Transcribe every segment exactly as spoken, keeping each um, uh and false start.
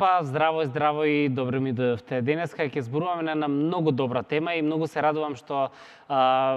Епа, здраво, здраво и добро ми дојдовте. Денеска ќе зборуваме на една многу добра тема и многу се радувам што а,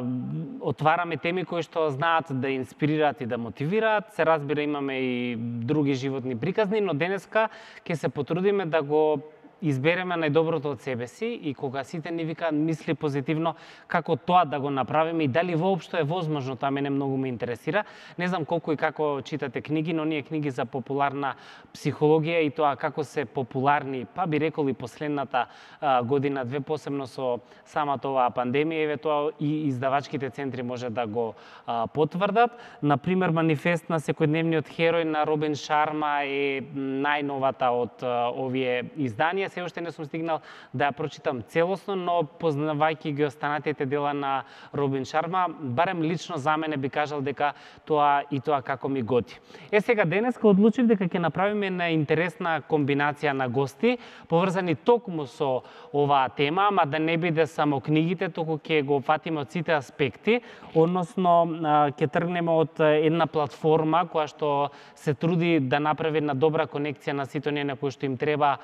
отвараме теми кои што знаат да инспирираат и да мотивираат. Се разбира, имаме и други животни приказни, но денеска ќе се потрудиме да го избереме најдоброто од себе си и кога сите ни викаат мисли позитивно, како тоа да го направиме и дали воопшто е возможно, тоа мене многу ме интересира. Не знам колку и како читате книги, но ние книги за популарна психологија и тоа како се популарни, па би рекол и последната а, година две, посебно со самата оваа пандемија, еве тоа и издавачките центри може да го а, потврдат. Например, Манифест на секојдневниот херој на Робин Шарма е најновата од а, овие изданија. Се уште не сум стигнал да ја прочитам целосно, но познавајќи ги останатите дела на Робин Шарма, барем лично за мене би кажал дека тоа и тоа како ми готи. Е сега денеска одлучив дека ќе направиме една интересна комбинација на гости, поврзани токму со оваа тема, ама да не биде само книгите, туку ќе го опфатиме од сите аспекти, односно ќе тргнеме од една платформа која што се труди да направи една добра конекција на сите оние на кои што им треба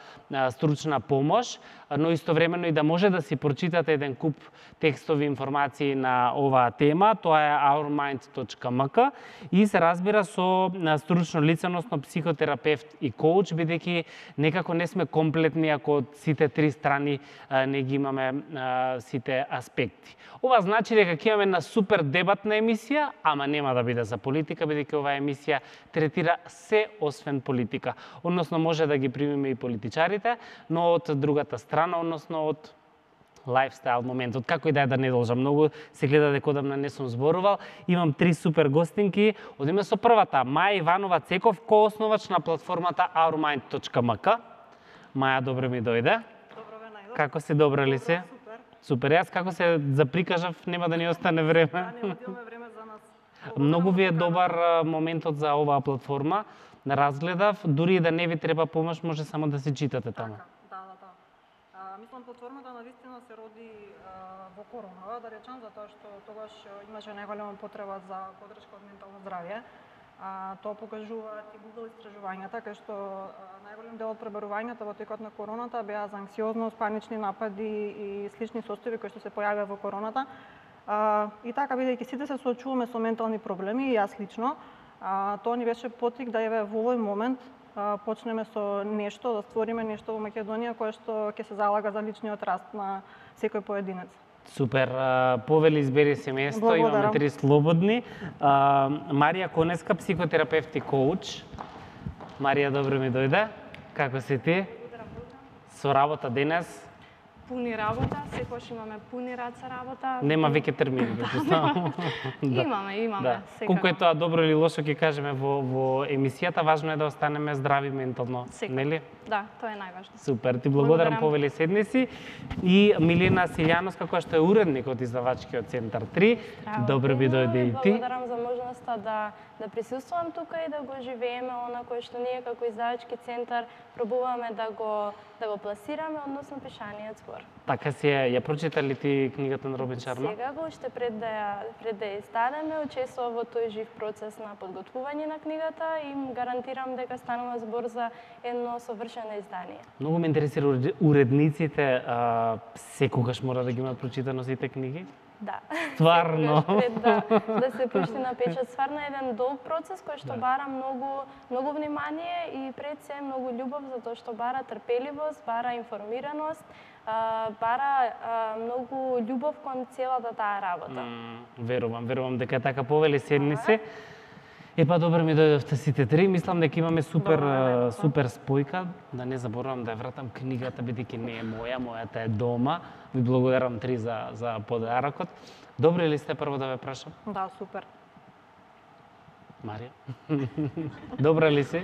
стручна помош, но истовремено и да може да си прочитате еден куп текстови информации на оваа тема. Тоа е our mind точка m k и се разбира со стручно лице, односно психотерапевт и коуч, бидејќи некако не сме комплетни ако од сите три страни не ги имаме сите аспекти. Ова значи дека ќе имаме една супер дебатна емисија, ама нема да биде за политика, бидејќи оваа емисија третира се освен политика. Односно може да ги примиме и политичарите, но од другата страна, односно од лайфстайл моментот. Како и да е, да не должам многу, се гледа дека одамна не сум зборувал. Имам три супер гостинки. Одиме со првата, Маја Иванова Цеков, коосновач на платформата our mind точка m k. Маја, добро ми дојде. Добро ве најдов. Како си, добра ли си? Супер. Супер, јас како се заприкажав, нема да ни остане време. Да, не одиме време за нас. Многу ви е добар моментот за оваа платформа. Разгледав, дури и да не ви треба помош, може само да се читате таму. Да, да, да. А, мислам, платформата навистина се роди а, во корона, да речам, затоа што тогаш имаше најголема потреба за поддршка од ментално здравје. А, тоа покажуваат и Google истражувањата, кај што а, најголем дел од пребарувањата во текот на короната беа за анксиозност, панични напади и слични состојби кои што се појавија во короната. А, и така, бидејќи сите се соочуваме со ментални проблеми, и јас лично, а, тоа ни беше потик да еве во овој момент а, почнеме со нешто, да створиме нешто во Македонија кое што ќе се залага за личниот раст на секој поединец. Супер, повели избери се место, Благодарам. Имаме три слободни. А, Марија Конеска, психотерапевт и коуч. Марија, добро ми дојде. Како си ти? Со работа денес? Пуни работа, секогаш имаме пуни раца работа. Нема веќе термини, да. Имаме, имаме, Да. секако. Колку е тоа добро или лошо ќе кажеме во, во емисијата, важно е да останеме здрави ментално, Секако. нели? Да, тоа е најважно. Супер, ти благодарам, Благодарам. повели седни си. И Милена Силјановска, која што е уредник од издавачкиот центар три. Здраво, Добро би Тино, дојде и ти. Благодарам за можноста да да присуствувам тука и да го живееме она кое што ние како издавачки центар пробуваме да го да го пласираме, односно пишаниот збор. Така си ја, ја прочита ли ти книгата на Робин Шарма? Сега го уште пред да ја пред да ја издадеме, учествував во тој жив процес на подготвување на книгата и им гарантирам дека станува збор за едно совршено издание. Многу ме интересира уред- уредниците, а, секогаш мора да ги имаат прочитано сите книги? Да. Стварно? Секогаш пред да, да се пушти на печат. Стварно е еден долг процес кој што Да. бара многу, многу внимание и пред се многу љубов, затоа што бара трпеливост, бара информираност, а, бара а, многу љубов кон целата таа работа. М, верувам, верувам дека е така, повели седни се. Епа, добро ми дојдовте сите три. Мислам дека имаме супер Добро, а, најдовме. супер спојка. Да не заборавам да ја вратам книгата, бидејќи не е моја, мојата е дома. Ви благодарам три за за подарокот. Добри ли сте, прво да ве прашам? Да, супер. Марија? Добра ли си?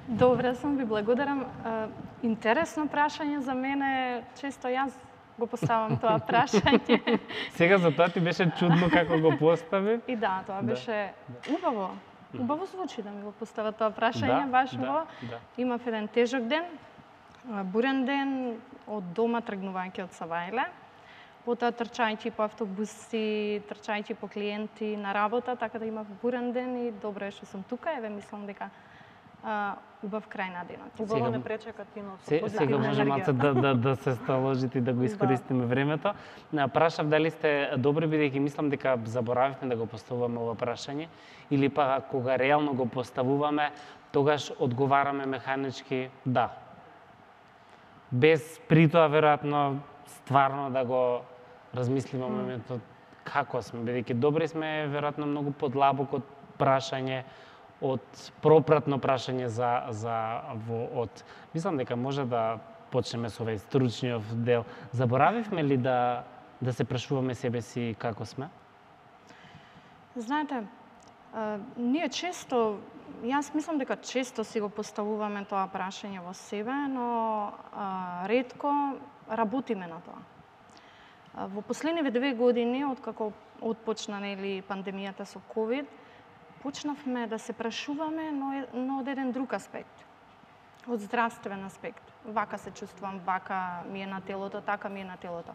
Добре сум, ви благодарам. А, Интересно прашање за мене, често јас го поставам тоа прашање. Сега за тоа ти беше чудно како го постави. И да, тоа Да, беше убаво. Убаво звучи да ми го постава тоа прашање, баш да, во. да. Имав еден тежок ден, а, бурен ден, од дома тргнувајќи од Савајле. Потоа трчајќи по автобуси, трчајќи по клиенти на работа, така да имав бурен ден и добро е што сум тука. Еве мислам дека а, убав крај на денот. Убаво не пречека тинот. Се, сега може малце да, да, да се сталожите и да го искористиме времето. Прашав дали сте добри, бидејќи мислам дека заборавивме да го поставуваме ова прашање, или па кога реално го поставуваме, тогаш одговараме механички да. Без при тоа веројатно стварно да го размислиме mm. моментот како сме, бидејќи добри сме веројатно многу подлабок од прашање, од пропратно прашање за за во од. Мислам дека може да почнеме со овој стручниот дел. Заборавивме ли да да се прашуваме себе си како сме? Знаете, а, ние често, јас мислам дека често си го поставуваме тоа прашање во себе, но а, ретко работиме на тоа. А, во последниве две години, откако отпочна нели пандемијата со ковид, почнавме да се прашуваме, но, но од еден друг аспект. Од здравствен аспект. Вака се чувствувам, вака ми е на телото, така ми е на телото.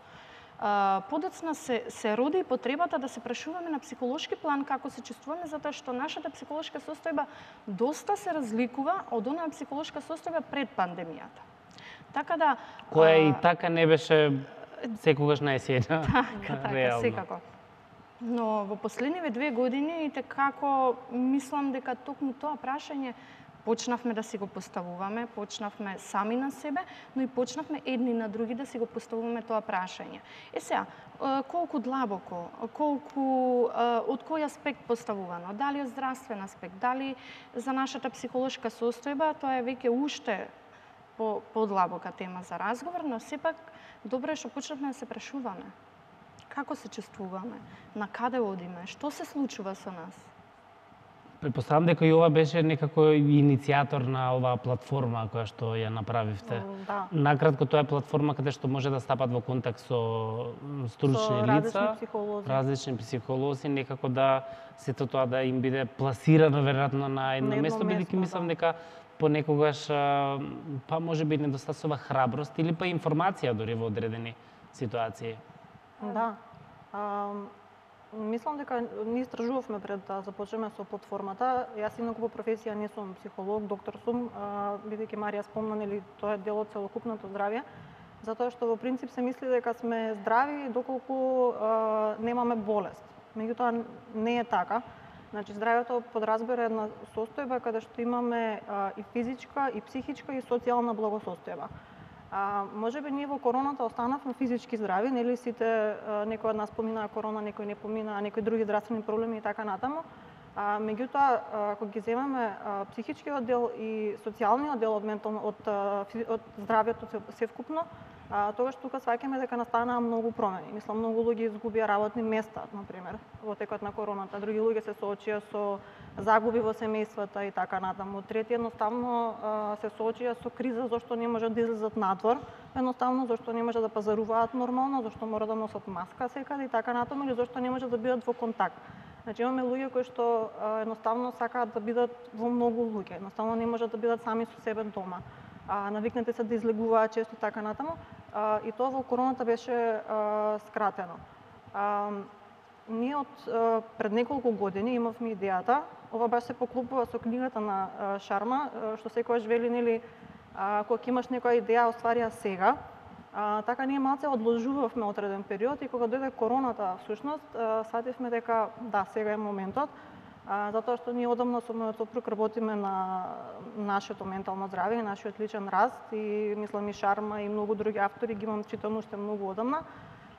Uh, подоцна се, се роди потребата да се прашуваме на психолошки план како се чувствуваме, затоа што нашата психолошка состојба доста се разликува од онаа психолошка состојба пред пандемијата. Така да... Која uh, и така не беше секогаш најсејна. Така, така, секако. Но во последниве две години и како мислам дека токму тоа прашање почнавме да си го поставуваме, почнавме сами на себе, но и почнавме едни на други да си го поставуваме тоа прашање. Е сега, колку длабоко, колку, од кој аспект поставувано, дали од здравствен аспект, дали за нашата психолошка состојба, тоа е веќе уште по, подлабока тема за разговор, но сепак добро е што почнавме да се прашуваме. Како се чувствуваме, на каде одиме, што се случува со нас? Предпоставам дека и ова беше некако иницијатор на оваа платформа која што ја направивте. Да. Накратко, тоа е платформа каде што може да стапат во контакт со стручни со лица, различни психолози, различни психолози, некако да сето тоа да им биде пласирано веројатно на едно, едно место, бидејќи мислам да. дека понекогаш па може би недостасува храброст или па информација дури во одредени ситуации. Да. А, мислам дека ние истражувавме пред да започнеме со платформата. Јас инаку по професија не сум психолог, доктор сум, бидејќи Марија спомна, нели тоа е дел од целокупното здравје, затоа што во принцип се мисли дека сме здрави доколку а, немаме болест. Меѓутоа не е така. Значи здравјето подразбира една состојба каде што имаме а, и физичка, и психичка, и социјална благосостојба. А, може би ние во короната останавме физички здрави, нели сите, а, некој од нас поминаа корона, некој не поминаа, некои други здравствени проблеми и така натаму. А, меѓутоа, ако ги земеме а, психичкиот дел и социјалниот дел од ментално од, од здравјето севкупно, а, тогаш тука сваќаме дека настанаа многу промени. Мислам, многу луѓе изгубија работни места, например, во текот на короната. Други луѓе се соочија со загуби во семејствата и така натаму. Трети едноставно а, се соочија со криза зашто не можат да излезат надвор, едноставно зашто не можат да пазаруваат нормално, зашто мора да носат маска секаде и така натаму, или зашто не можат да бидат во контакт. Значи имаме луѓе кои што а, едноставно сакаат да бидат во многу луѓе, едноставно не можат да бидат сами со себе дома. А, навикнати се да излегуваат често и така натаму, а, и тоа во короната беше а, скратено. А, ние од а, пред неколку години имавме идејата, ова баш се поклопува со книгата на а, Шарма, а, што секогаш вели, нели, а, кога имаш некоја идеја, оствари ја сега. А, така ние малце одложувавме одреден период и кога дојде короната, всушност, сативме дека да, сега е моментот, а, затоа што ние одамна со мојот сопруг работиме на нашето ментално здравје и нашиот личен раст и мислам и Шарма и многу други автори ги имам читано уште многу одамна.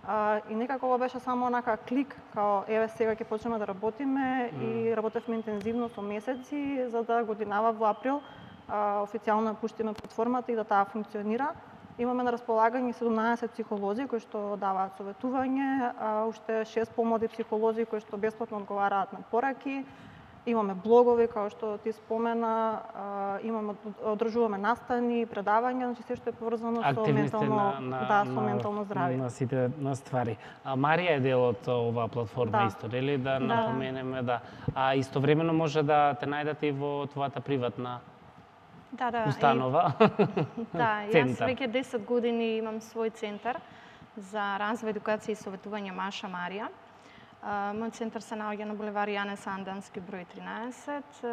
А, и некако ова беше само онака клик, као еве сега ќе почнеме да работиме mm. и работевме интензивно со месеци за да годинава во април а, официјално пуштиме платформата и да таа функционира. Имаме на располагање седумнаесет психолози кои што даваат советување, а уште шест помлади психолози кои што бесплатно одговараат на пораки. Имаме блогови, како што ти спомена, а, имаме одржуваме настани, предавања, значи се што е поврзано со ментално, на, на, да, со на, ментално здравје. На сите на ствари. А Марија е дел од оваа платформа да. Исто, нели да, да напоменеме, да. А истовремено може да те најдете и во твојата приватна да, да, установа. И, да, јас веќе десет години имам свој центар за развој, едукација и советување Маша Марија. Мојот центар се наоѓа на булевар Јане Сандански број тринаесет.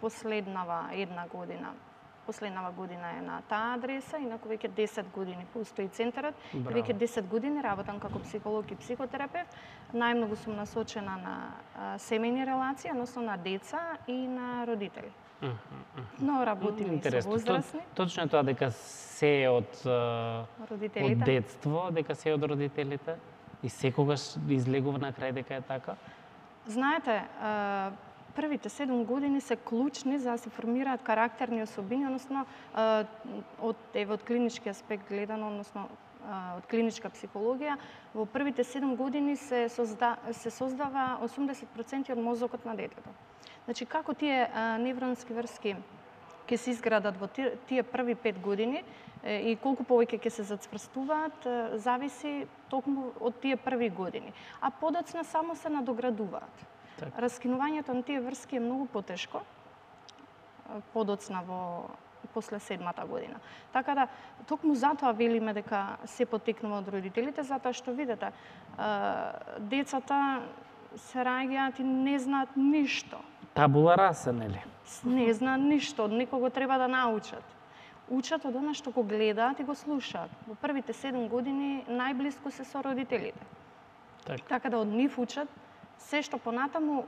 Последнава една година, последнава година е на таа адреса, инаку веќе десет години постои центарот. Браво. Веќе десет години работам како психолог и психотерапевт. Најмногу сум насочена на семејни релации, односно на деца и на родители. Mm -hmm. Но работим и со возрастни. Точно е тоа дека се е од родителите, од детство, дека се е од родителите и секогаш излегува на крај дека е така? Знаете, првите седум години се клучни за да се формираат карактерни особини, односно од еве од клинички аспект гледано, односно од клиничка психологија, во првите седум години се созда, се создава осумдесет проценти од мозокот на детето. Значи, како тие невронски врски ќе се изградат во тие први пет години и колку повеќе ќе се зацврстуваат, зависи токму од тие први години. А подоцна само се надоградуваат. Так. Раскинувањето на тие врски е многу потешко, подоцна во после седмата година. Така да, токму затоа велиме дека се потекнува од родителите, затоа што видите, децата се раѓаат и не знаат ништо. Табула раса, нели? Не знаат ништо, од некого треба да научат. Учат од она што го гледаат и го слушаат. Во првите седум години најблиску се со родителите. Так. Така да од нив учат се што понатаму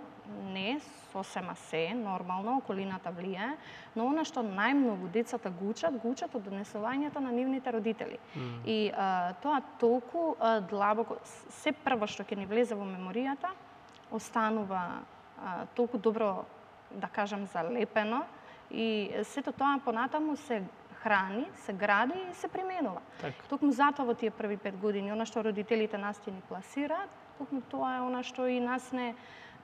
не сосема се, нормално, околината влијае, но она што најмногу децата го учат, го учат од однесувањето на нивните родители. Mm. И а, тоа толку а, длабоко, се прво што ќе ни влезе во меморијата, останува а, толку добро, да кажам, залепено и сето тоа понатаму се храни, се гради и се применува. Так. Токму затоа во тие први пет години, она што родителите нас ќе ни пласираат, токму тоа е она што и нас не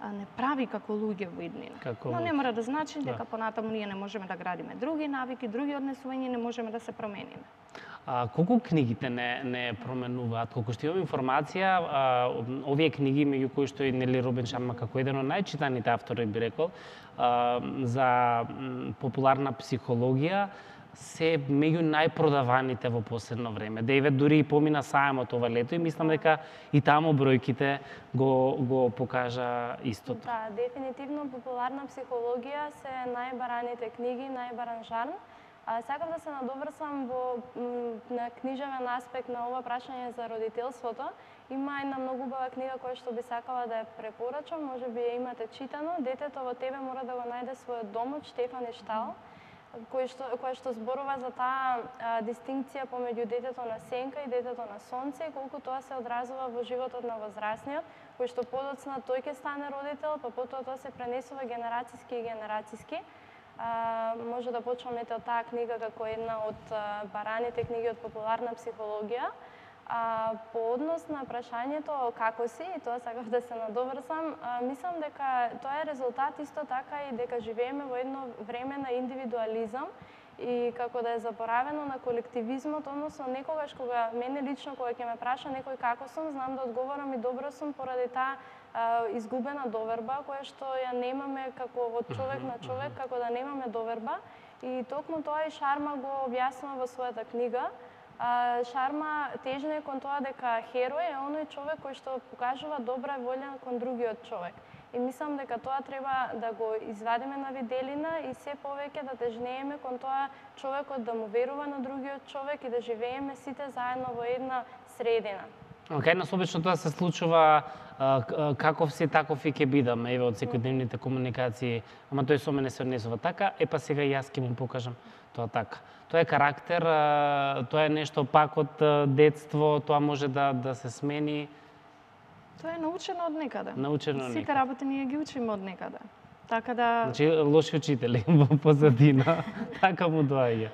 не прави како луѓе во иднина. Како Но не мора да значи дека да. Понатаму ние не можеме да градиме други навики, други однесувања, не можеме да се промениме. А колку книгите не не променуваат? Колку што имам информација, а, овие книги меѓу кои што и Нели Робин Шарма како еден од најчитаните автори би рекол, а, за популарна психологија, се меѓу најпродаваните во последно време. Дејвид дури и помина сајмот ова лето и мислам дека и таму бројките го го покажа истото. Да, дефинитивно популарна психологија се најбараните книги, најбаран жанр. А, сакам да се надоврсам во на книжевен аспект на ова прашање за родителството. Има една многу убава книга која што би сакала да ја препорачам, можеби ја имате читано. Детето во тебе мора да го најде својот дом од Штефан Иштал, кој што која што зборува за таа а, дистинкција помеѓу детето на сенка и детето на сонце и колку тоа се одразува во животот на возрастниот, кој што подоцна тој ќе стане родител, па потоа тоа се пренесува генерацијски и генерацијски. А, може да почнемете од таа книга како една од а, бараните книги од популарна психологија. А, по однос на прашањето како си, и тоа сакав да се надоврсам, а, мислам дека тоа е резултат исто така и дека живееме во едно време на индивидуализам и како да е заборавено на колективизмот, односно некогаш кога мене лично кога ќе ме праша некој како сум, знам да одговорам и добро сум поради таа а, изгубена доверба која што ја немаме како од човек на човек, како да немаме доверба и токму тоа и Шарма го објаснува во својата книга. А, Шарма тежне кон тоа дека херој е оној човек кој што покажува добра волја кон другиот човек. И мислам дека тоа треба да го извадиме на виделина и се повеќе да тежнееме кон тоа човекот да му верува на другиот човек и да живееме сите заедно во една средина. Кај нас обично тоа се случува каков си, таков и ќе бидам, еве од секојдневните комуникации, ама тој со мене се однесува така, е па сега јас ќе му покажам тоа така. Тоа е карактер, тоа е нешто пак од детство, тоа може да да се смени. Тоа е научено од некаде. Научено од некаде. Сите работи ние ги учиме од некаде. Така да Значи лоши учители во позадина, така му доаѓа.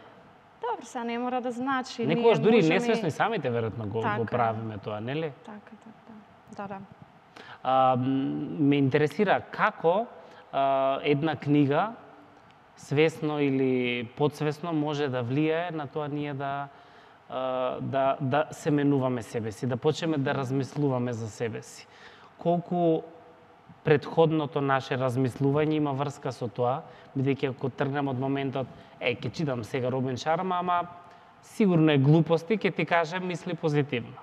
Добро, сега не мора да значи. Некогаш дури можеме... несвесно и самите веројатно го, така, го правиме тоа, нели? Така, така, да, да. А, ме интересира како а, една книга свесно или подсвесно може да влијае на тоа ние да да да се менуваме себе си, да почнеме да размислуваме за себе си. Колку претходното наше размислување има врска со тоа, бидејќи ако тргнем од моментот, е, ќе читам сега Робин Шарма, ама сигурно е глупости, ќе ти кажем мисли позитивно.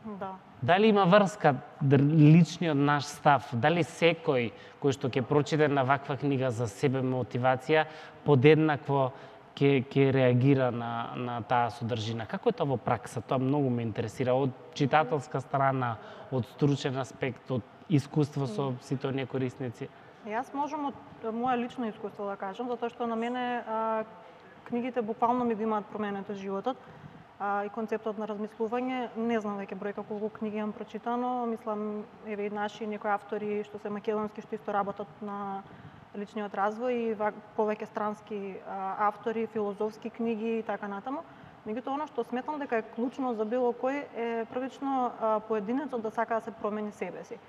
Да. Дали има врска личниот наш став? Дали секој кој што ќе прочита на ваква книга за себе мотивација подеднакво ќе ќе реагира на на таа содржина? Како е тоа во пракса? Тоа многу ме интересира од читателска страна, од стручен аспект, од искуство со сите оние корисници. Јас можам од моја лично искуство да кажам, затоа што на мене а, книгите буквално ми го имаат променето животот. А, и концептот на размислување, не знам веќе бројка колку книги имам прочитано, мислам еве и наши некои автори што се македонски што исто работат на личниот развој и повеќе странски а, автори, филозофски книги и така натаму. Меѓутоа она што сметам дека е клучно за било кој е првично а, поединецот да сака да се промени себе си.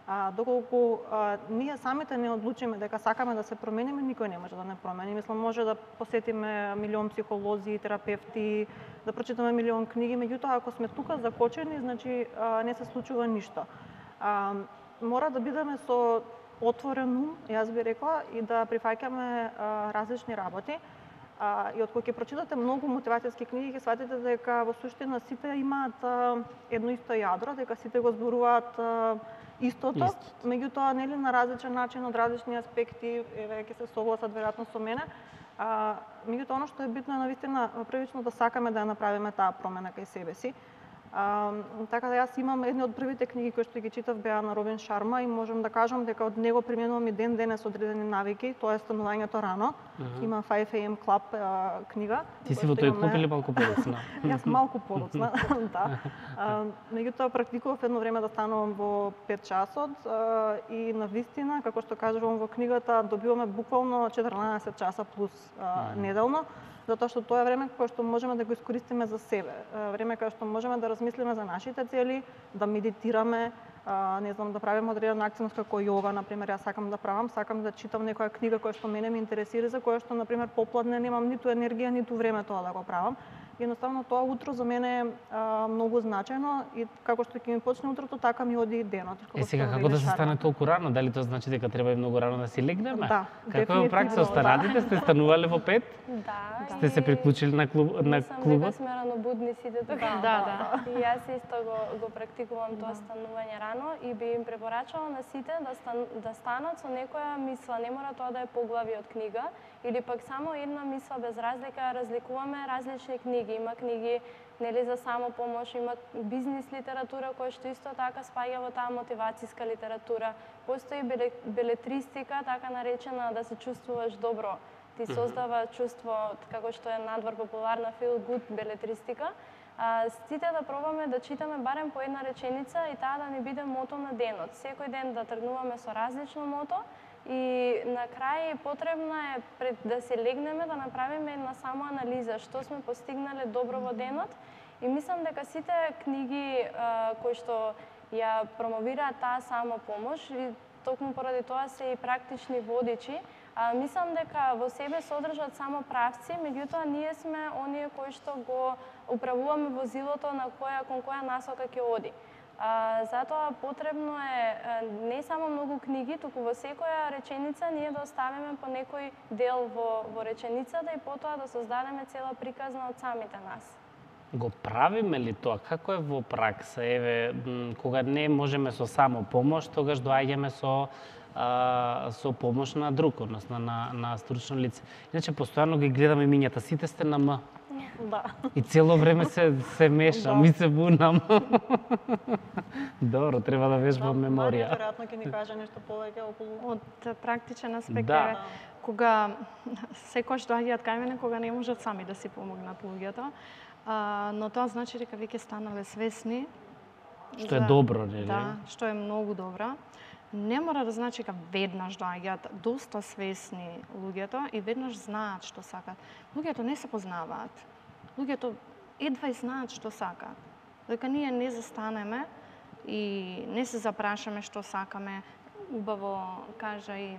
А, доколку а, ние самите не одлучиме дека сакаме да се промениме, никој не може да не промени. Мислам, може да посетиме милион психолози, терапевти, да прочитаме милион книги, меѓутоа ако сме тука закочени, значи а, не се случува ништо. А, мора да бидеме со отворен ум, јас би рекла, и да прифаќаме а, различни работи. А, и откога ќе прочитате многу мотивацијски книги, ќе сватите дека во суштина сите имаат а, едно исто јадро, дека сите го зборуваат а, истото, Истото. Меѓутоа нели на различен начин, од различни аспекти, еве ќе се согласат веројатно со мене. А, меѓутоа она што е битно е навистина првично да сакаме да ја направиме таа промена кај себе си. А, така да јас имам едни од првите книги кои што ги читав беа на Робин Шарма и можам да кажам дека од него применувам и ден денес одредени навики, тоа е станувањето рано. Uh -huh. Има five a m Club а, книга. Ти си во тој клуб или малку подоцна? Јас малку подоцна, да. А, меѓутоа практикував едно време да станувам во пет часот а, и навистина, како што кажувам во книгата, добиваме буквално четрнаесет часа плюс а, uh -huh. неделно, затоа што тоа е време кое што можеме да го искористиме за себе. Време кое што можеме да размислиме за нашите цели, да медитираме, не знам, да правиме одредена активност како јога, например, јас сакам да правам, сакам да читам некоја книга која што мене ме интересира, за која што, например, попладне немам ниту енергија, ниту време тоа да го правам. Едноставно тоа утро за мене е а, многу значајно и како што ќе ми почне утрото, така ми оди и денот. Е, сега како да се стане толку рано? Дали тоа значи дека треба и многу рано да си легнеме? Да. Како е во пракса? Останатите сте станувале во пет? Да. Сте се приклучили на клуб на клубот? Мислам дека сме ранобудни сите тука. Да, да, да. И јас исто го го практикувам тоа станување рано и би им препорачала на сите да стан, да станат со некоја мисла, не мора тоа да е поглави од книга или пак само една мисла без разлика, разликуваме различни книги. Има книги нели за самопомош, има бизнис литература која што исто така спаѓа во таа мотивацијска литература. Постои белетристика, така наречена да се чувствуваш добро. Ти создава чувство, како што е надвор популарна feel good белетристика. А, сите да пробаме да читаме барем по една реченица и таа да ни биде мото на денот. Секој ден да тргнуваме со различно мото и на крај потребна е пред да се легнеме да направиме една самоанализа што сме постигнале добро во денот и мислам дека сите книги а, кои што ја промовираат таа самопомош и токму поради тоа се и практични водичи. А, мислам дека во себе содржат само правци, меѓутоа ние сме оние кои што го управуваме возилото на која кон која насока ќе оди. А, затоа потребно е не само многу книги, туку во секоја реченица ние да оставиме по некој дел во, во реченицата и потоа да создадеме цела приказна од самите нас. Го правиме ли тоа? Како е во пракса? Еве, кога не можеме со само помош, тогаш доаѓаме со а, со помош на друг, односно на, на стручно лице. Иначе, постојано ги гледаме мињата, сите сте на М. Да. И цело време се, се мешам, да. И се бунам. Добро, треба да вежбам да, меморија. Да, веројатно ќе ни каже нешто повеќе околу... Од практичен аспект, да. е, кога секојаш доаѓаат кај мене, кога не можат сами да си помогнат луѓето, а, но тоа значи дека веќе станале свесни. Што е добро, нели? Да, што е многу добро. Не мора да значи дека веднаш доаѓаат доста свесни луѓето и веднаш знаат што сакаат. Луѓето не се познаваат. Луѓето едва и знаат што сакаат. Дека ние не застанеме и не се запрашаме што сакаме, убаво кажа и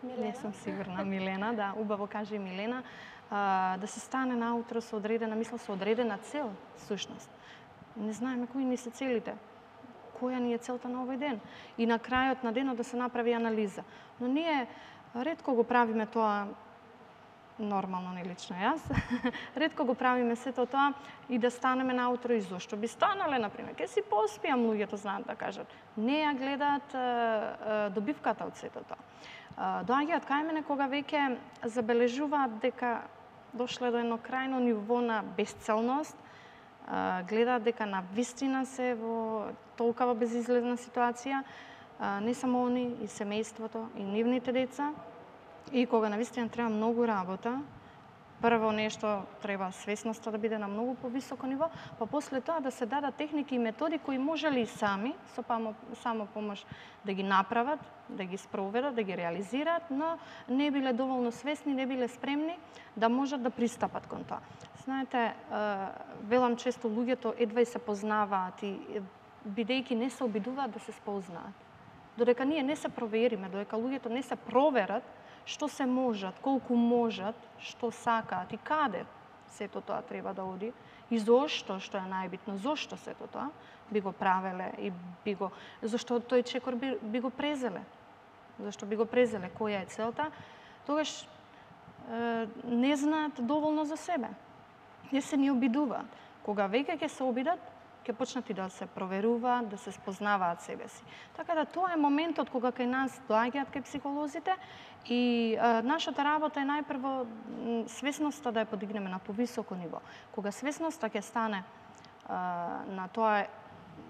Милена. Не сум сигурна, Милена, да, убаво кажа и Милена, а, да се стане наутро со одредена мисла, со одредена цел, сушност. Не знаеме кои ни се целите, која ни е целта на овој ден. И на крајот на денот да се направи анализа. Но ние ретко го правиме тоа нормално, не лично јас, ретко го правиме сето тоа и да станеме наутро и зошто би станале, например, ке си поспиам, луѓето знаат да кажат. Не ја гледаат е, е, добивката од сето тоа. Доаѓаат кај мене кога веќе забележуваат дека дошле до едно крајно ниво на безцелност, гледаат дека на вистина се во толкава безизлезна ситуација, не само они, и семејството, и нивните деца, и кога на вистина треба многу работа. Прво нешто треба свесноста да биде на многу повисоко ниво, па после тоа да се дадат техники и методи кои можеле и сами, со памо, само помош да ги направат, да ги спроведат, да ги реализираат, но не биле доволно свесни, не биле спремни да можат да пристапат кон тоа. Знаете, велам често луѓето едва и се познаваат и бидејќи не се обидуваат да се спознаат. Додека ние не се провериме, додека луѓето не се проверат што се можат, колку можат, што сакаат и каде сето тоа треба да оди и зошто, што е најбитно, зошто сето тоа би го правеле и би го, зашто тој чекор би, би го презеле, зашто би го презеле, која е целта, тогаш е, не знаат доволно за себе. Не се ни обидуваат. Кога веќе ќе се обидат, ќе почнат и да се проверуваат, да се спознаваат себе си. Така да тоа е моментот кога кај нас доаѓаат кај психолозите и е, нашата работа е најпрво свесноста да ја подигнеме на повисоко ниво. Кога свесноста ќе стане е, на тоа,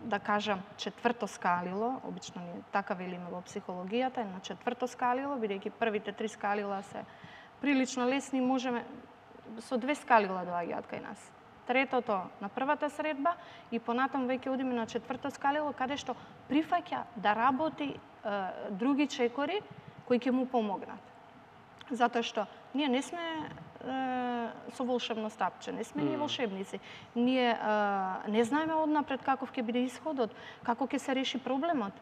да кажам, четврто скалило, обично ние така велиме во психологијата, е на четврто скалило, бидејќи првите три скалила се прилично лесни, можеме со две скалила доаѓаат кај нас. Третото на првата средба и понатаму веќе одиме на четврто скалило, каде што прифаќа да работи е, други чекори кои ќе му помогнат. Затоа што ние не сме е, со волшебно стапче, не сме mm. ние волшебници. Ние е, не знаеме однапред каков ќе биде исходот, како ќе се реши проблемот.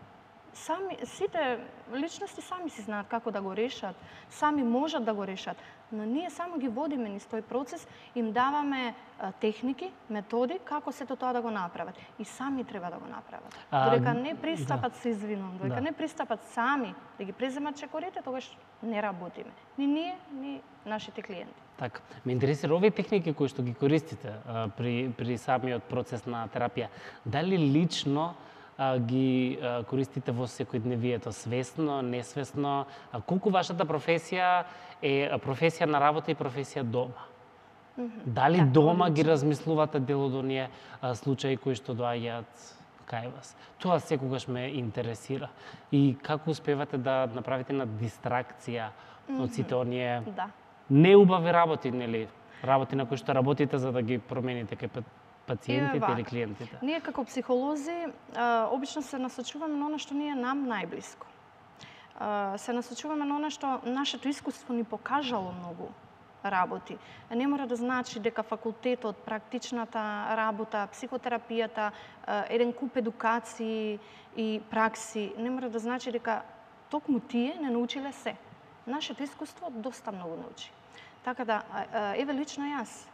Сами, сите личности сами си знаат како да го решат, сами можат да го решат, но ние само ги водиме низ тој процес, им даваме а, техники, методи како сето тоа да го направат. И сами треба да го направат. А, додека не пристапат, да. се извинувам, додека да. не пристапат сами да ги преземат чекорите, тогаш не работиме. Ни ние, ни нашите клиенти. Така, ме интересира овие техники кои што ги користите а, при, при самиот процес на терапија. Дали лично а, ги а, користите во секојдневието, свесно, несвесно? А, колку вашата професија е професија на работа и професија дома? Mm -hmm. Дали да, дома ги размислувате дел од оние а, случаи кои што доаѓаат кај вас? Тоа секогаш ме интересира. И како успевате да направите на дистракција mm -hmm. од сите оние да. неубави работи, нели? Работи на кои што работите за да ги промените кај пациентите или клиентите? Ние како психолози а, обично се насочуваме на она што ни е нам најблиско. А, се насочуваме на она што нашето искуство ни покажало многу работи. Не мора да значи дека факултетот, практичната работа, психотерапијата, еден куп едукации и пракси, не мора да значи дека токму тие не научиле се. Нашето искуство доста многу научи. Така да, еве лично јас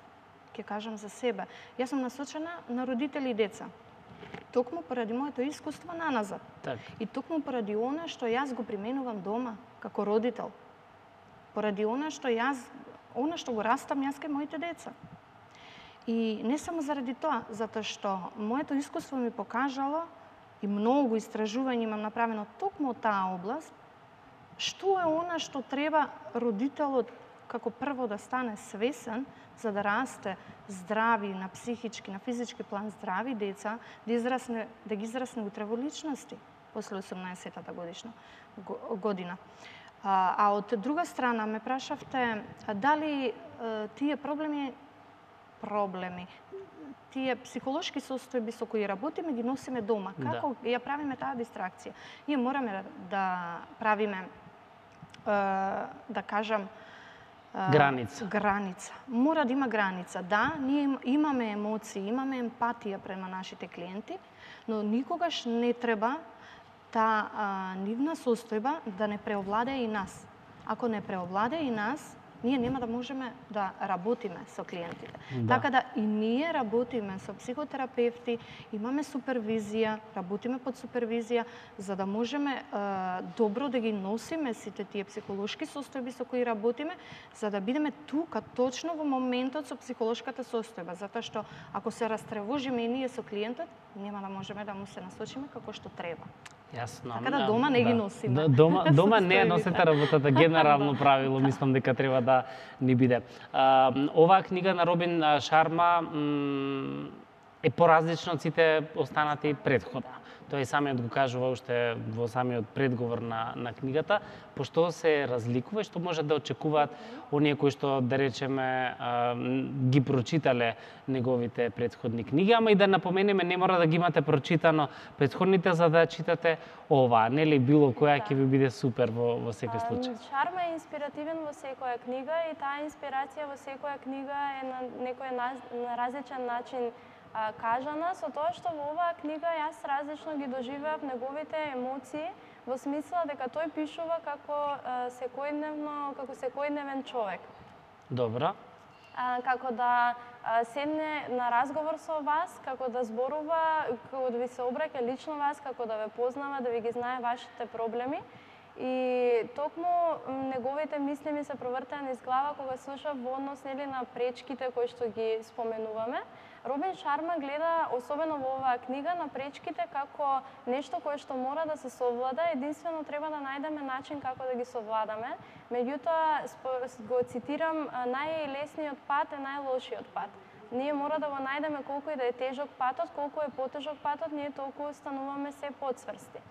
ќе кажам за себе. Јас сум насочена на родители и деца. Токму поради моето искуство наназад. Так. И токму поради она што јас го применувам дома како родител. Поради она што јас она што го растам јас кај моите деца. И не само заради тоа, затоа што моето искуство ми покажало и многу истражување имам направено токму од таа област, што е она што треба родителот како прво да стане свесен за да расте здрави на психички, на физички план здрави деца, да израсне, да ги израсне утре во личности после осумнаесеттата годишна година. А, а од друга страна ме прашавте дали а, тие проблеми проблеми тие психолошки состојби со кои работиме ги носиме дома. Како да. ја правиме таа дистракција? Ние мораме да правиме а, да кажам Граница. Граница. Мора да има граница. Да, ние имаме емоции, имаме емпатија према нашите клиенти, но никогаш не треба таа нивна состојба да не преовладее и нас. Ако не преовладее и нас, ние нема да можеме да работиме со клиентите. Да. Така да и ние работиме со психотерапевти, имаме супервизија, работиме под супервизија, за да можеме е, добро да ги носиме сите тие психолошки состојби со кои работиме, за да бидеме тука точно во моментот со психолошката состојба, затоа што ако се растревожиме и ние со клиентот, нема да можеме да му се насочиме како што треба. Јасно. Така да дома не ги носиме. Да, дома дома не носите работата, генерално правило, мислам дека треба да ни биде. А, оваа книга на Робин Шарма е поразлична од сите останати претходно. Тој самиот го кажува уште во самиот предговор на, на книгата, пошто се разликува и што може да очекуваат оние кои што, да речеме, а, ги прочитале неговите претходни книги, ама и да напоменеме, не мора да ги имате прочитано претходните за да читате ова, нели било која ќе ви биде супер во, во секој случај. Шарма е инспиративен во секоја книга и таа инспирација во секоја книга е на некој на, на различен начин а, кажана, со тоа што во оваа книга јас различно ги доживеав неговите емоции, во смисла дека тој пишува како а, секојдневно, како секојдневен човек. Добро. А, како да а, седне на разговор со вас, како да зборува, како да ви се обраќа лично вас, како да ве познава, да ви ги знае вашите проблеми. И токму неговите мисли ми се провртеа низ глава кога слушав во однос нели на пречките кои што ги споменуваме. Робин Шарма гледа, особено во оваа книга, на пречките како нешто кое што мора да се совлада, единствено треба да најдеме начин како да ги совладаме. Меѓутоа, го цитирам, најлесниот пат е најлошиот пат. Ние мора да го најдеме колку и да е тежок патот, колку е потежок патот, ние толку стануваме се подсврсти.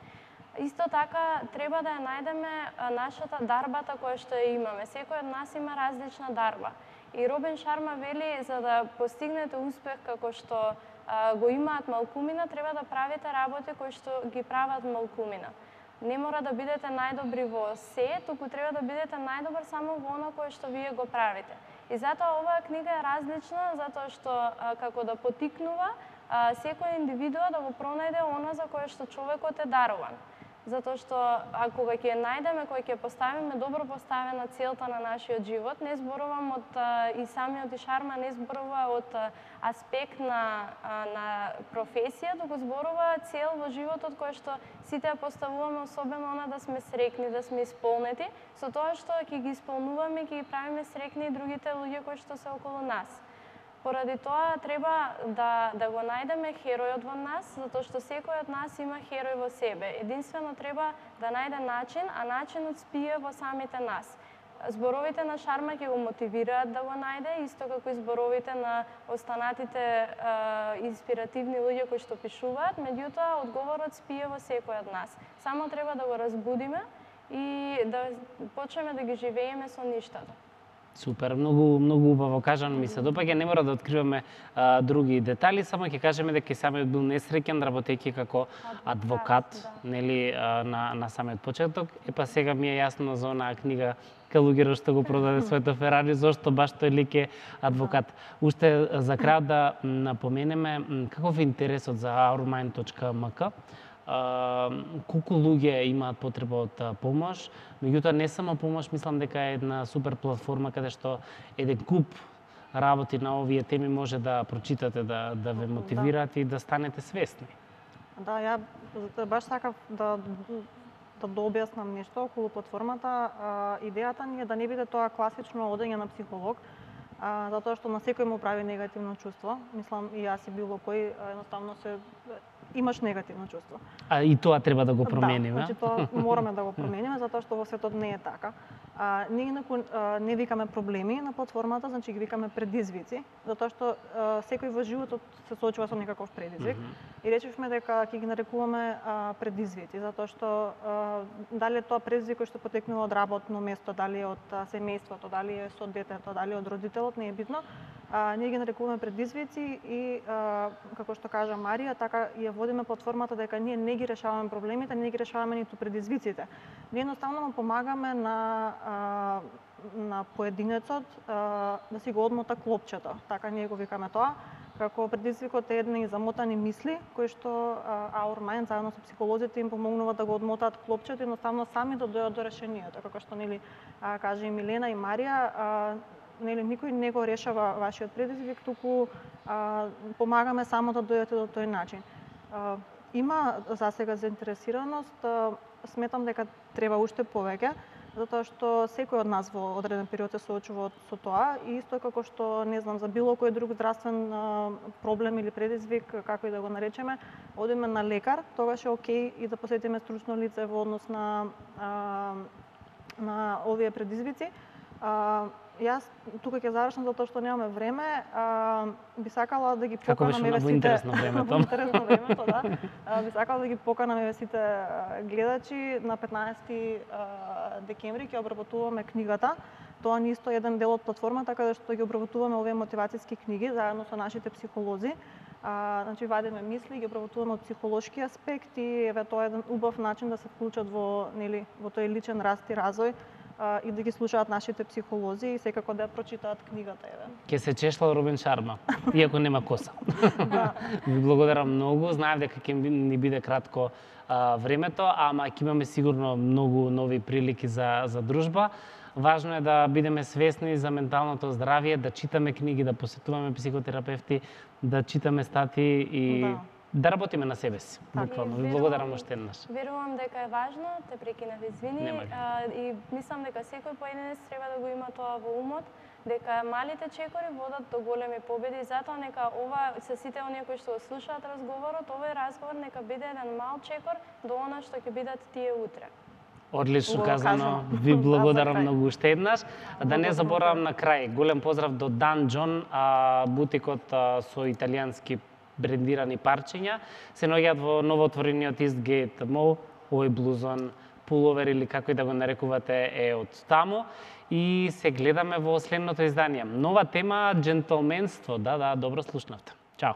Исто така, треба да ја најдеме нашата дарбата која што ја имаме. Секој од нас има различна дарба. И Робин Шарма вели, за да постигнете успех како што а, го имаат малкумина, треба да правите работи кои што ги прават малкумина. Не мора да бидете најдобри во се, туку треба да бидете најдобар само во оно кое што вие го правите. И затоа оваа книга е различна, затоа што а, како да потикнува а, секој индивидуа да го пронајде она за кое што човекот е даруван. Затоа што а кога ќе ја најдеме, кога ќе поставиме добро поставена целта на нашиот живот, не зборувам од а, и самиот и Шарма не зборува од а, аспект на а, на професија, туку зборува цел во животот која што сите ја поставуваме, особено она да сме среќни, да сме исполнети, со тоа што ќе ги исполнуваме, ќе ги правиме среќни и другите луѓе кои што се околу нас. Поради тоа треба да, да го најдеме херојот во нас, затоа што секој од нас има херој во себе. Единствено треба да најде начин, а начинот спие во самите нас. Зборовите на Шарма ќе го мотивираат да го најде, исто како и зборовите на останатите е, инспиративни луѓе кои што пишуваат, меѓутоа одговорот спие во секој од нас. Само треба да го разбудиме и да почнеме да ги живееме со ништото. Супер, многу многу убаво кажано, ми се допаѓа, не мора да откриваме а, други детали, само ќе кажеме дека самиот бил несреќен работејќи како адвокат, адвокат да. Нели а, на на самиот почеток. Е па сега ми е јасно за онаа книга Калугеро што го продаде своето Ферари, зошто баш тој лик е адвокат. Уште за крај да напоменеме каков е интересот за aurmind точка ем ка. Uh, колку луѓе имаат потреба од uh, помош, меѓутоа не само помош, мислам дека е една супер платформа каде што еден куп работи на овие теми може да прочитате, да, да ве мотивираат да. И да станете свесни. Да, ја баш сакав да да дообјаснам нешто околу платформата. А, идејата ни е да не биде тоа класично одење на психолог, а, затоа што на секој му прави негативно чувство. Мислам и јас и било кој едноставно се имаш негативно чувство. А и тоа треба да го промениме. Да, значи тоа мораме да го промениме затоа што во светот не е така. А, ние инаку не викаме проблеми на платформата, значи ги викаме предизвици, затоа што а, секој во животот се соочува со некаков предизвик. Mm -hmm. И речевме дека ќе ги нарекуваме а, предизвици, затоа што а, дали е тоа предизвик кој што потекнува од работно место, дали е од а, семејството, дали е со детето, дали од родителот, не е битно. А, ние ги нарекуваме предизвици и а, како што кажа Марија, така ја водиме платформата дека ние не ги решаваме проблемите, не ги решаваме ниту предизвиците. Ние едноставно му помагаме на а, на поединецот а, да си го одмота клопчето, така ние го викаме тоа, Како предизвикот е едни замотани мисли, кои што Our Mind заедно со психолозите им помогнуваат да го одмотаат клопчето и едноставно сами да дојдат до решението. Како што нели кажа и Милена и Марија, нели никој не го решава вашиот предизвик, туку а, помагаме само да дојдете до тој начин. А, има за сега заинтересираност, а, сметам дека треба уште повеќе, затоа што секој од нас во одреден период се соочува со тоа и исто како што не знам за било кој друг здравствен а, проблем или предизвик, како и да го наречеме, одиме на лекар, тогаш е окей и да посетиме стручно лице во однос на а, на овие предизвици. А, Јас тука ќе завршам затоа што немаме време. А, би сакала да ги поканам еве сите. Во интерес на времето. Во интерес на времето, да. А, би сакала да ги поканам еве сите гледачи на петнаесети декември ќе обработуваме книгата. Тоа ни исто еден дел од платформата каде што ги обработуваме овие мотивацијски книги заедно со нашите психолози. А, значи вадиме мисли, ги обработуваме од психолошки аспект и еве тоа е еден убав начин да се вклучат во нели во тој личен раст и развој и да ги слушаат нашите психолози и секако да ја прочитаат книгата, еве. Ке се чешла Робин Шарма, иако нема коса. Да. Ви благодарам многу, знаев дека ќе ни биде кратко а, времето, ама ќе имаме сигурно многу нови прилики за за дружба. Важно е да бидеме свесни за менталното здравје, да читаме книги, да посетуваме психотерапевти, да читаме статии и Да. да работиме на себе си. Така. Буквално. Ви благодарам уште еднаш. Верувам дека е важно, те прекинав, извини, Нема ги. а, и мислам дека секој поединец треба да го има тоа во умот, дека малите чекори водат до големи победи и затоа нека ова се сите оние кои што го слушаат разговорот, овој разговор нека биде еден мал чекор до она што ќе бидат тие утре. Одлично Го казано. кажано. Ви благодарам За крај. многу уште еднаш. Да не заборавам на крај, голем поздрав до Дан Џон, а, бутикот а, со италијански брендирани парчиња. Се наоѓаат во новоотворениот Eastgate Mall, овој блузон, пуловер или како и да го нарекувате е од таму. И се гледаме во следното издание. Нова тема, джентлменство. Да, да, добро слушнавте. Чао.